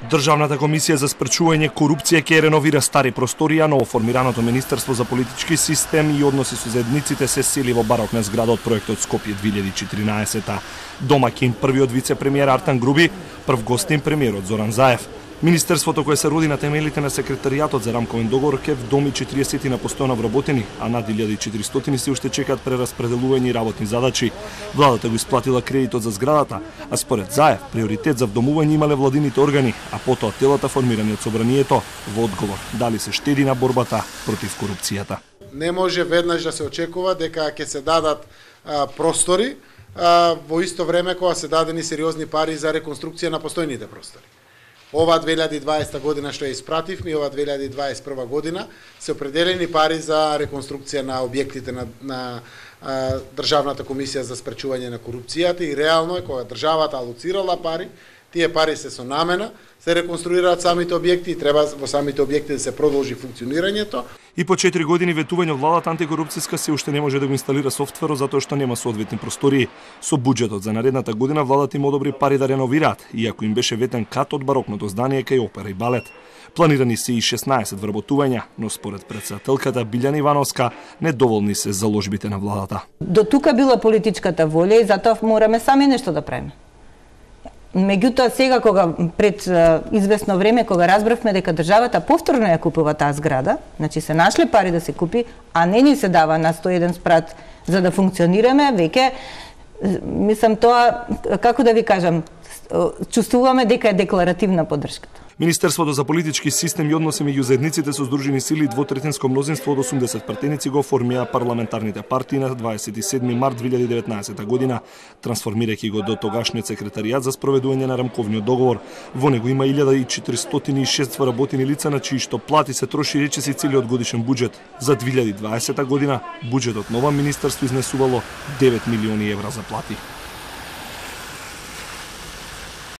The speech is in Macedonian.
Државната комисија за спречување корупција ќе реновира стари просторија, новоформираното Министерство за политички систем и односи со заедниците се сели во барокна зграда од проектот Скопје 2014. Домаќин првиот вице-премиер Артан Груби, прв гостин премиерот Зоран Заев. Министерството кое се роди на темелите на секретаријатот за рамковен договор ке вдоми 40 на постојано вработени, а над 1400 се уште чекаат прераспределување и работни задачи. Владата го исплатила кредитот за зградата, а според Заев приоритет за вдомување имале владините органи, а потоа телата формирани од собранието во одговор дали се штеди на борбата против корупцијата. Не може веднаш да се очекува дека ќе се дадат простори во исто време кога се дадени сериозни пари за реконструкција на постојните простори. Ова 2020 година што ја испративме и ова 2021 година се определени пари за реконструкција на објектите на Државната комисија за спречување на корупцијата и реално е кога државата алоцирала пари, тие пари се со намена, се реконструираат самите објекти и треба во самите објекти да се продолжи функционирањето. И по 4 години ветување од владата антикорупцијска се уште не може да го инсталира софтверот затоа што нема соодветни простории. Со буџетот за наредната година владата им одобри пари да реновираат, иако им беше ветен кат од барокното здание кај опера и балет. Планирани се и 16 вработувања, но според претседателката Билјана Ивановска недоволни се заложбите на владата. До тука била политичката волја и затоа мораме сами нешто да правиме. Меѓутоа сега кога пред известно време кога разбравме дека државата повторно ја купува таа зграда, значи се нашле пари да се купи, а не ни се дава на 101 спрат за да функционираме, веќе мислам тоа како да ви кажам, чувствуваме дека е декларативна поддршката. Министерството за политички систем и односи меѓу заедниците со здружени сили двотретинско мнозинство од 80 пратеници го оформија парламентарните партии на 27 март 2019 година, трансформирајќи го до тогашниот секретаријат за спроведување на рамковниот договор. Во него има 1406 вработени лица на чии што плати се троши речиси целиот годишен буџет. За 2020 година буџетот нова министерство изнесувало 9 милиони евра за плати.